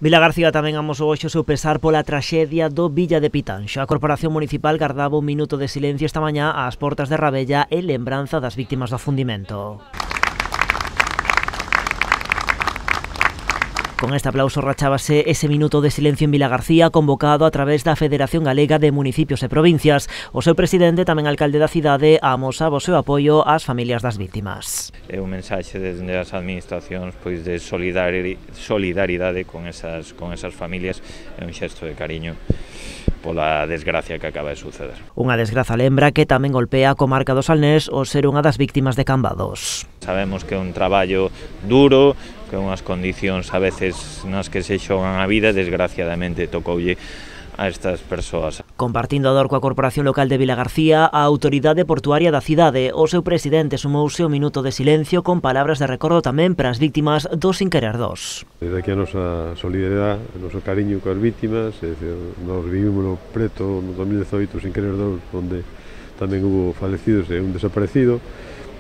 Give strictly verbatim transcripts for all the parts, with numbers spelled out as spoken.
Vilagarcía tamén amosou hoxe o seu pesar pola traxedia do Villa de Pitanxo. A Corporación Municipal gardaba un minuto de silencio esta mañá ás portas de Rabella en lembranza das víctimas do afundimento. Con este aplauso rachábase ese minuto de silencio en Vilagarcía convocado a través da Federación Galega de Municipios e Provincias. O seu presidente, tamén alcalde da cidade, amosaba o seu apoio ás familias das víctimas. É un mensaxe desde as administracións pois de solidaridade con esas, con esas familias, é un xesto de cariño pola desgracia que acaba de suceder. Unha desgraza lembra que tamén golpea a comarca do Salnés o ser unha das víctimas de Cambados. Sabemos que é un traballo duro, que unhas condicións a veces nas que se xogan a vida, desgraciadamente tocoulle a estas persoas. Compartindo a dor coa Corporación Local de Vilagarcía, a Autoridade Portuaria da cidade, o seu presidente sumouse o minuto de silencio con palabras de recordo tamén para as víctimas do Sin Querer dos. Desde aquí a nosa solidaridade, o noso cariño coas víctimas, é dicir, nos vivimos preto no dos mil dezoito Sin Querer dos, onde tamén hubo falecidos e un desaparecido,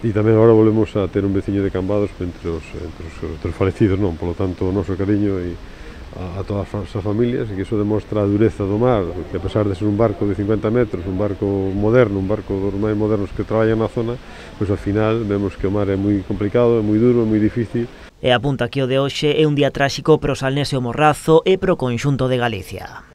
e tamén agora volvemos a ter un veciño de Cambados entre os, entre os, entre os falecidos, non? Por lo tanto, o noso cariño e a, a todas as familias, e que iso demostra a dureza do mar, que a pesar de ser un barco de cincuenta metros, un barco moderno, un barco dos máis modernos que traballan na zona, pois ao final vemos que o mar é moi complicado, é moi duro, é moi difícil. E apunta que o de hoxe é un día tráxico pro Salnés e o Morrazo e pro conxunto de Galicia.